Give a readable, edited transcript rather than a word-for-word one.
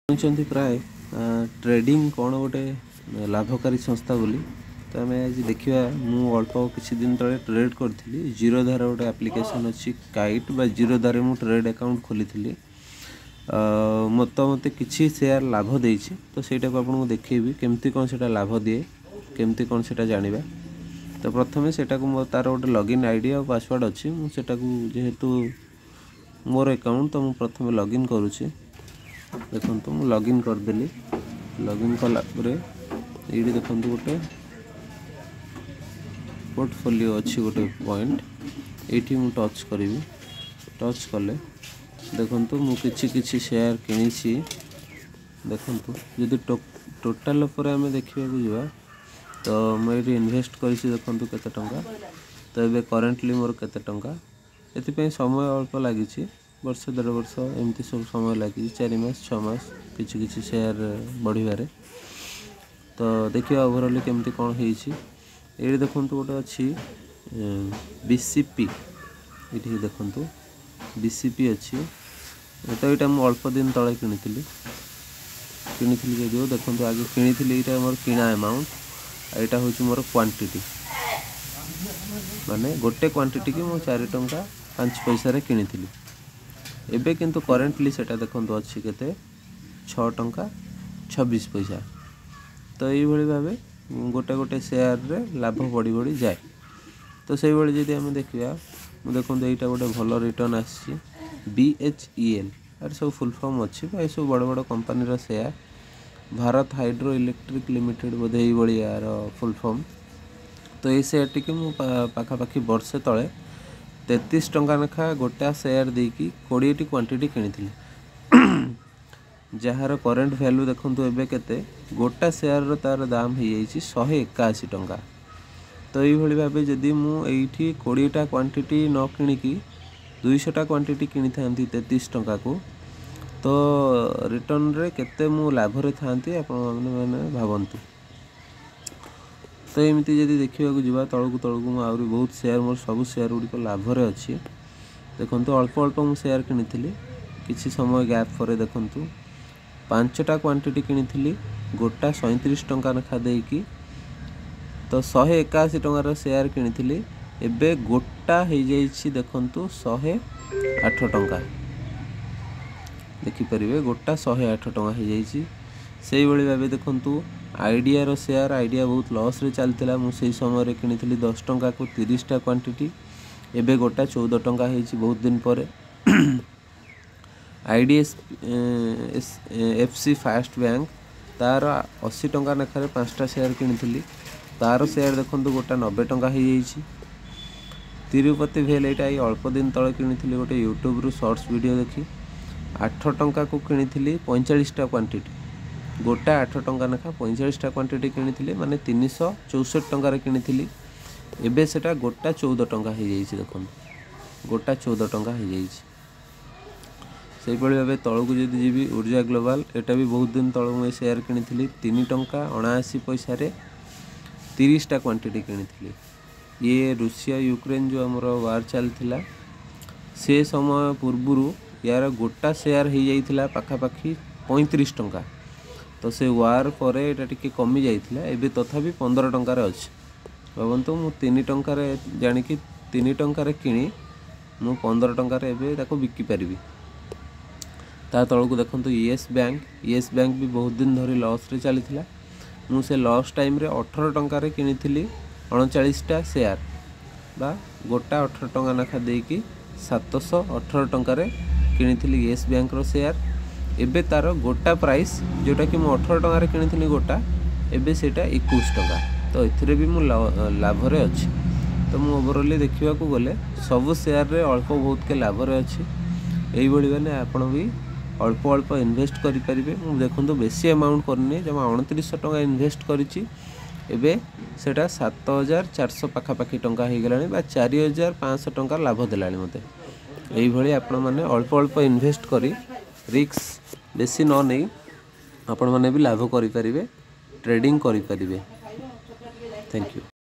ଶୁଣିଛନ୍ତି ପ୍ରାୟ ଟ୍ରେଡ଼ିଂ କ'ଣ ଗୋଟେ ଲାଭକାରୀ ସଂସ୍ଥା ବୋଲି। ତ ଆମେ ଆଜି ଦେଖିବା। ମୁଁ ଅଳ୍ପ କିଛି ଦିନ ତଳେ ଟ୍ରେଡ଼୍ କରିଥିଲି। ଜିରୋଧାର ଗୋଟେ ଆପ୍ଲିକେସନ୍ ଅଛି, କାଇଟ୍ ବା ଜିରୋଧାରେ ମୁଁ ଟ୍ରେଡ଼୍ ଆକାଉଣ୍ଟ ଖୋଲିଥିଲି। ମୋତେ କିଛି ସେୟାର ଲାଭ ଦେଇଛି, ତ ସେଇଟାକୁ ଆପଣଙ୍କୁ ଦେଖେଇବି, କେମିତି କ'ଣ ସେଇଟା ଲାଭ ଦିଏ, କେମିତି କ'ଣ ସେଇଟା ଜାଣିବା। ତ ପ୍ରଥମେ ସେଇଟାକୁ ମୋ ତା'ର ଗୋଟେ ଲଗ୍ଇନ୍ I D ଆଉ ପାସୱାର୍ଡ଼ ଅଛି। ମୁଁ ସେଇଟାକୁ, ଯେହେତୁ ମୋର ଆକାଉଣ୍ଟ, ତ ମୁଁ ପ୍ରଥମେ ଲଗ୍ଇନ୍ କରୁଛି। ଦେଖନ୍ତୁ, ମୁଁ ଲଗ୍ଇନ୍ କରିଦେଲି। ଲଗ୍ଇନ୍ କଲା ପରେ ଏଇଠି ଦେଖନ୍ତୁ, ଗୋଟେ ପୋର୍ଟଫୋଲିଓ ଅଛି, ଗୋଟେ ପଏଣ୍ଟ। ଏଇଠି ମୁଁ ଟଚ୍ କରିବି। ଟଚ୍ କଲେ ଦେଖନ୍ତୁ, ମୁଁ କିଛି କିଛି ସେୟାର କିଣିଛି। ଦେଖନ୍ତୁ, ଯଦି ଟୋଟାଲ୍ ଉପରେ ଆମେ ଦେଖିବାକୁ ଯିବା, ତ ମୁଁ ଏଇଠି ଇନଭେଷ୍ଟ କରିଛି, ଦେଖନ୍ତୁ କେତେ ଟଙ୍କା। ତ ଏବେ କରେଣ୍ଟଲି ମୋର କେତେ ଟଙ୍କା। ଏଥିପାଇଁ ସମୟ ଅଳ୍ପ ଲାଗିଛି, ବର୍ଷ ଦେଢ଼ ବର୍ଷ ଏମିତି ସବୁ ସମୟ ଲାଗିଛି, 4 ମାସ, 6 ମାସ କିଛି କିଛି ସେୟାର ବଢ଼ିବାରେ। ତ ଦେଖିବା ଓଭରଅଲି କେମିତି କ'ଣ ହେଇଛି। ଏଇଠି ଦେଖନ୍ତୁ, ଗୋଟେ ଅଛି ବିସିପି। ଏଇଠି ଦେଖନ୍ତୁ, ବିସିପି ଅଛି। ତ ଏଇଟା ମୁଁ ଅଳ୍ପ ଦିନ ତଳେ କିଣିଥିଲି। ଯଦିଓ ଦେଖନ୍ତୁ, ଆଗେ କିଣିଥିଲି, ଏଇଟା ମୋର କିଣା ଆମାଉଣ୍ଟ, ଆଉ ଏଇଟା ହେଉଛି ମୋର କ୍ୱାଣ୍ଟିଟି। ମାନେ ଗୋଟେ କ୍ୱାଣ୍ଟିଟିକି ମୁଁ 4 ଟଙ୍କା 5 ପଇସାରେ କିଣିଥିଲି। ଏବେ କିନ୍ତୁ କରେଣ୍ଟଲି ସେଇଟା ଦେଖନ୍ତୁ ଅଛି କେତେ, 6 ଟଙ୍କା 26 ପଇସା। ତ ଏଇଭଳି ଭାବେ ଗୋଟେ ଗୋଟେ ସେୟାରରେ ଲାଭ ବଢ଼ି ବଢ଼ି ଯାଏ। ତ ସେଇଭଳି ଯଦି ଆମେ ଦେଖିବା, ମୁଁ ଦେଖନ୍ତୁ, ଏଇଟା ଗୋଟେ ଭଲ ରିଟର୍ଣ୍ଣ ଆସିଛି, ବିଏଚଇଏଲ୍। ଏର ସବୁ ଫୁଲ୍ ଫର୍ମ ଅଛି ବା ଏସବୁ ବଡ଼ ବଡ଼ କମ୍ପାନୀର share. Bharat hydro electric limited ବୋଧେ ଏଇଭଳି ଏହାର ଫୁଲ୍ ଫର୍ମ। ତ ଏଇ ସେୟାରଟିକି ମୁଁ ପାଖାପାଖି ବର୍ଷେ ତଳେ 33 ଟଙ୍କା ଲେଖା ଗୋଟା ସେୟାର ଦେଇକି 20ଟି କ୍ୱାଣ୍ଟିଟି କିଣିଥିଲି, ଯାହାର କରେଣ୍ଟ ଭ୍ୟାଲୁ ଦେଖନ୍ତୁ ଏବେ କେତେ। ଗୋଟା ସେୟାରର ତା'ର ଦାମ ହେଇଯାଇଛି 181 ଟଙ୍କା। ତ ଏଇଭଳି ଭାବେ ଯଦି ମୁଁ ଏଇଠି 20ଟା କ୍ୱାଣ୍ଟିଟି ନ କିଣିକି 200ଟା କ୍ୱାଣ୍ଟିଟି କିଣିଥାନ୍ତି 33 ଟଙ୍କାକୁ, ତ ରିଟର୍ଣ୍ଣରେ କେତେ ମୁଁ ଲାଭରେ ଥାନ୍ତି, ଆପଣମାନେ ମାନେ ଭାବନ୍ତୁ। ତ ଏମିତି ଯଦି ଦେଖିବାକୁ ଯିବା ତଳକୁ ତଳକୁ, ମୁଁ ଆହୁରି ବହୁତ ସେୟାର, ମୋର ସବୁ ସେୟାର ଗୁଡ଼ିକ ଲାଭରେ ଅଛି। ଦେଖନ୍ତୁ, ଅଳ୍ପ ଅଳ୍ପ ମୁଁ ସେୟାର କିଣିଥିଲି। କିଛି ସମୟ ଗ୍ୟାପ୍ ପରେ ଦେଖନ୍ତୁ, ପାଞ୍ଚଟା କ୍ୱାଣ୍ଟିଟି କିଣିଥିଲି ଗୋଟା 37 ଟଙ୍କା ଲେଖା ଦେଇକି। ତ 181 ଟଙ୍କାର ସେୟାର କିଣିଥିଲି, ଏବେ ଗୋଟା ହେଇଯାଇଛି ଦେଖନ୍ତୁ 108 ଟଙ୍କା। ଦେଖିପାରିବେ, ଗୋଟା 108 ଟଙ୍କା ହେଇଯାଇଛି। ସେଇଭଳି ଭାବେ ଦେଖନ୍ତୁ, ଆଇଡ଼ିଆର ସେୟାର। ଆଇଡ଼ିଆ ବହୁତ ଲସ୍ରେ ଚାଲିଥିଲା। ମୁଁ ସେଇ ସମୟରେ କିଣିଥିଲି 10 ଟଙ୍କାକୁ 30ଟା କ୍ୱାଣ୍ଟିଟି। ଏବେ ଗୋଟା 14 ଟଙ୍କା ହେଇଛି ବହୁତ ଦିନ ପରେ। ଆଇଡ଼ିଏଫ୍ ସି ଫାଷ୍ଟ ବ୍ୟାଙ୍କ, ତାର 80 ଟଙ୍କା ଲେଖାରେ ପାଞ୍ଚଟା ସେୟାର କିଣିଥିଲି। ତାର ସେୟାର ଦେଖନ୍ତୁ, ଗୋଟା 90 ଟଙ୍କା ହେଇଯାଇଛି। ତିରୁପତି ଭେଲ୍, ଏଇଟା ଏଇ ଅଳ୍ପ ଦିନ ତଳେ କିଣିଥିଲି ଗୋଟେ ୟୁଟ୍ୟୁବରୁ ସର୍ଟସ୍ ଭିଡ଼ିଓ ଦେଖି। 8 ଟଙ୍କାକୁ କିଣିଥିଲି 45ଟା କ୍ୱାଣ୍ଟିଟି। ଗୋଟା 8 ଟଙ୍କା ଲେଖା 45ଟା କ୍ୱାଣ୍ଟିଟି କିଣିଥିଲି, ମାନେ 364 ଟଙ୍କାରେ କିଣିଥିଲି। ଏବେ ସେଟା ଗୋଟା 14 ଟଙ୍କା ହେଇଯାଇଛି। ଦେଖନ୍ତୁ, ଗୋଟା 14 ଟଙ୍କା ହେଇଯାଇଛି। ସେଇଭଳି ଭାବେ ତଳକୁ ଯଦି ଯିବି, ଉର୍ଜା ଗ୍ଲୋବାଲ୍, ଏଇଟା ବି ବହୁତ ଦିନ ତଳୁ ମୁଁ ଏ ସେୟାର କିଣିଥିଲି। 3 ଟଙ୍କା 79 ପଇସାରେ 30ଟା କ୍ୱାଣ୍ଟିଟି କିଣିଥିଲି। ଇଏ ରୁଷିଆ ୟୁକ୍ରେନ୍ ଯେଉଁ ଆମର ୱାର୍ ଚାଲିଥିଲା, ସେ ସମୟ ପୂର୍ବରୁ ୟାର ଗୋଟା ସେୟାର ହେଇଯାଇଥିଲା ପାଖାପାଖି 35 ଟଙ୍କା। ତ ସେ ୱାର୍ ପରେ ଏଇଟା ଟିକେ କମି ଯାଇଥିଲା। ଏବେ ତଥାପି 15 ଟଙ୍କାରେ ଅଛି। ଭାବନ୍ତୁ, ମୁଁ 3 ଟଙ୍କାରେ ଜାଣିକି, 3 ଟଙ୍କାରେ କିଣି ମୁଁ 15 ଟଙ୍କାରେ ଏବେ ତାକୁ ବିକିପାରିବି। ତା ତଳକୁ ଦେଖନ୍ତୁ, ୟେସ୍ ବ୍ୟାଙ୍କ। ୟେସ୍ ବ୍ୟାଙ୍କ ବି ବହୁତ ଦିନ ଧରି ଲସ୍ରେ ଚାଲିଥିଲା। ମୁଁ ସେ ଲସ୍ ଟାଇମ୍ରେ 18 ଟଙ୍କାରେ କିଣିଥିଲି 39ଟା ସେୟାର ବା ଗୋଟା 18 ଟଙ୍କା ଲେଖା ଦେଇକି 718 ଟଙ୍କାରେ କିଣିଥିଲି ୟେସ୍ ବ୍ୟାଙ୍କର ସେୟାର। ଏବେ ତା'ର ଗୋଟା ପ୍ରାଇସ୍, ଯେଉଁଟାକି ମୁଁ 18 ଟଙ୍କାରେ କିଣିଥିଲି ଗୋଟା, ଏବେ ସେଇଟା 21 ଟଙ୍କା। ତ ଏଥିରେ ବି ମୁଁ ଲାଭରେ ଅଛି। ତ ମୁଁ ଓଭରଅଲି ଦେଖିବାକୁ ଗଲେ ସବୁ ସେୟାରରେ ଅଳ୍ପ ବହୁତକେ ଲାଭରେ ଅଛି। ଏଇଭଳି ମାନେ ଆପଣ ବି ଅଳ୍ପ ଅଳ୍ପ ଇନଭେଷ୍ଟ କରିପାରିବେ। ମୁଁ ଦେଖନ୍ତୁ, ବେଶୀ ଆମାଉଣ୍ଟ କରିନି, ଜମା 2900 ଟଙ୍କା ଇନଭେଷ୍ଟ କରିଛି। ଏବେ ସେଇଟା 7400 ପାଖାପାଖି ଟଙ୍କା ହେଇଗଲାଣି ବା 4500 ଟଙ୍କା ଲାଭ ଦେଲାଣି ମୋତେ। ଏଇଭଳି ଆପଣମାନେ ଅଳ୍ପ ଅଳ୍ପ ଇନଭେଷ୍ଟ କରି, ରିସ୍କ ବେଶୀ ନ ନେଇ ଆପଣମାନେ ବି ଲାଭ କରିପାରିବେ, ଟ୍ରେଡ଼ିଂ କରିପାରିବେ। Thank you.